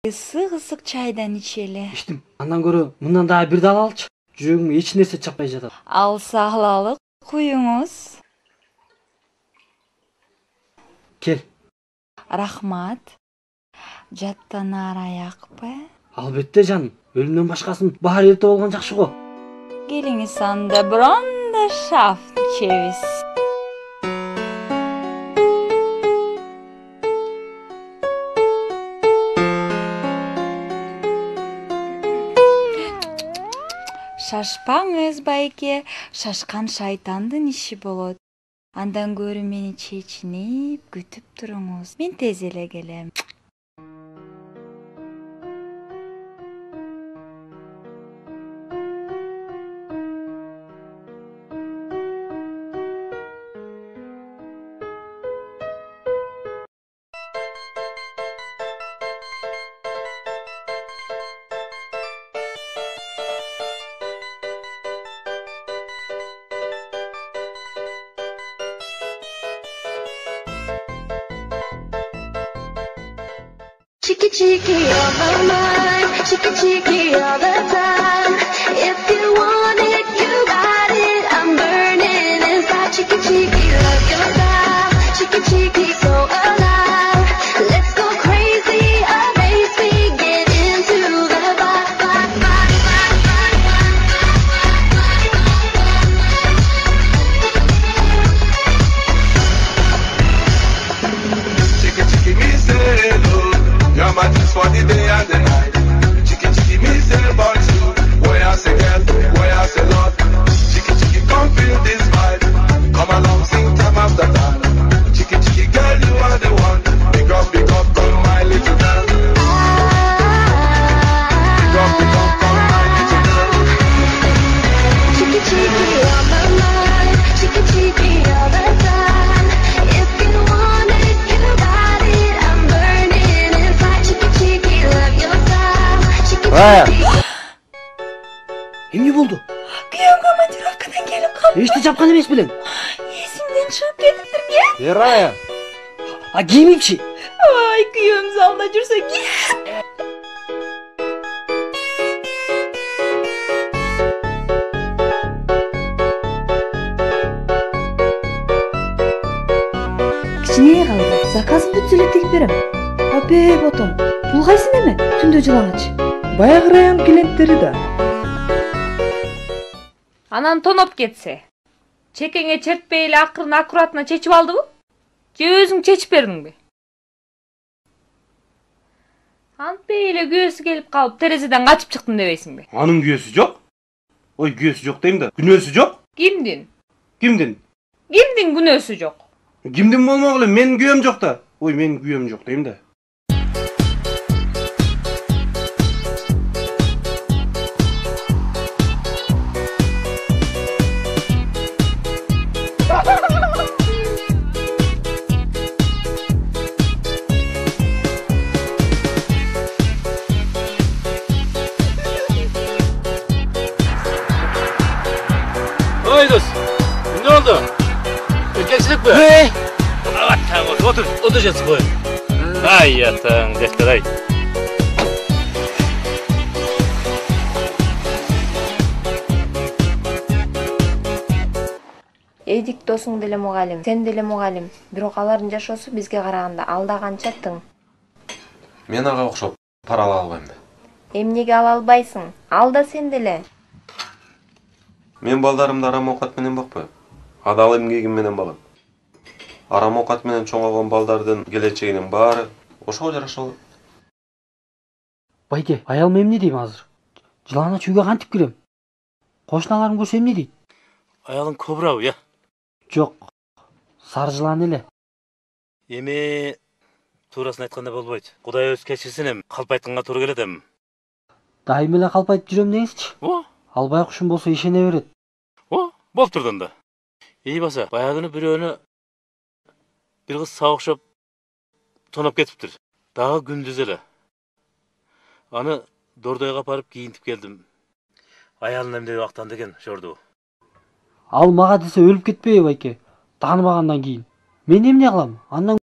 ысык чайдан ичели. Иштим. Андан көрө мындан дагы бир дал алчы. Жүрөгүмө эч нерсе чаппай жатат. Алса алалык куюңуз. Кел. Рахмат. Жаттанаар аякпы? Албетте жаным. Өлүмдөн башкасын баары эрте болгон жакшы го. Келиңиз анда бронда шафт ичебиз. Шашпаңыз, байке. Шашкан шайтандын иши болот. Андан көрү мени чечинип күтүп туруңуз. Мен тез эле келем. Cheeky, cheeky on my mind, cheeky, cheeky all the time. If you want it, you got it. I'm burning inside. Cheeky, cheeky, love your style. Cheeky, cheeky, so alive. Let's go crazy, amaze me, get into the vibe, vibe, vibe, vibe, vibe. Cheeky, cheeky, me say hello. You're my juice for the day and the night. Cheeky, cheeky, me say about you. Boy, I say girl, boy, I say Lord. Cheeky, cheeky, come feel this vibe. Come along, sing time after time. Cheeky, cheeky, girl, you are the one. Big up, come my little girl. Big up, come my little girl. Cheeky, cheeky on my mind, cheeky, cheeky all the time. If you want it, you got it. I'm burning inside. Cheeky, cheeky, love your style. Cheeky, cheeky. Эмне болду? Күйөөм командировкадан келип калды. Эчти чапкан эмес белең. Эсимден чыгып кетиптир. Рая. А кийимимчи? Ай, күйөөм залда жүрсө кет. Кичине калды. Заказым бүтсө эле тигип берем. Абе, ботом. Бул кайсы неме? Түндө жылаңачы. Баягы район клиенттери да. Анан тоноп кетсе. Чекеңе чертпей эле акырын аккуратно чечип алдыбы? Же өзүң чечип бердиңби? Антпей эле күйөөсү келип калып, терезеден качып чыктым дебейсиңби? Анын күйөөсү жок. Ой, күйөөсү жок дейм да. Күнөөсү жок. Кимдин? Кимдин? Кимдин күнөөсү жок? Кимдин болмок эле, менин күйөөм жок да. Ой, менин күйөөм жок дейм да. Ой, дос. Ne oldu? Erkekçilik mi? Evet, tamam. Otur жатсың ғой. Ay yatağın, defter ay. Эдик досуң деле мугалим, сен деле мугалим. Бирок алардын жашоосу бизге караганда алда канча тың. Мен ага окшоп пара ала албайм. Эмнеге ала албайсың? Ал да сен деле. Мен балдарымды арам оокат менен бакпайм. Адал эмгегим менен балам. Арам оокат менен чоңойгон балдардын келечегинин баары ошого жараша болот. Байке, аялым эмне дейм азыр? Жыланач үйгө кантип кирем? Кошуналарым көрсө эмне дейт? Аялың кобурабы, я? Жок. Сары жылан эле. Эми туурасын айтканда болбойт. Кудай өз кечирсин, эми калп айтканга туура келет эми. Дайым эле калп айтып жүрөм деңизчи. Албай кушум болсо ишене берет. Болуп турду да. Ии баса, баягыны бирөөнү бир кыз сабыкшап тоноп кетиптир. Дагы күндүз эле. Аны Дордойго апарып кийинтип келдим. Аялын эмне убактан деген жорду. Ал мага десе өлүп кетпейби байке? Тааныбагандан кийин. Мен эмне кылам? Андан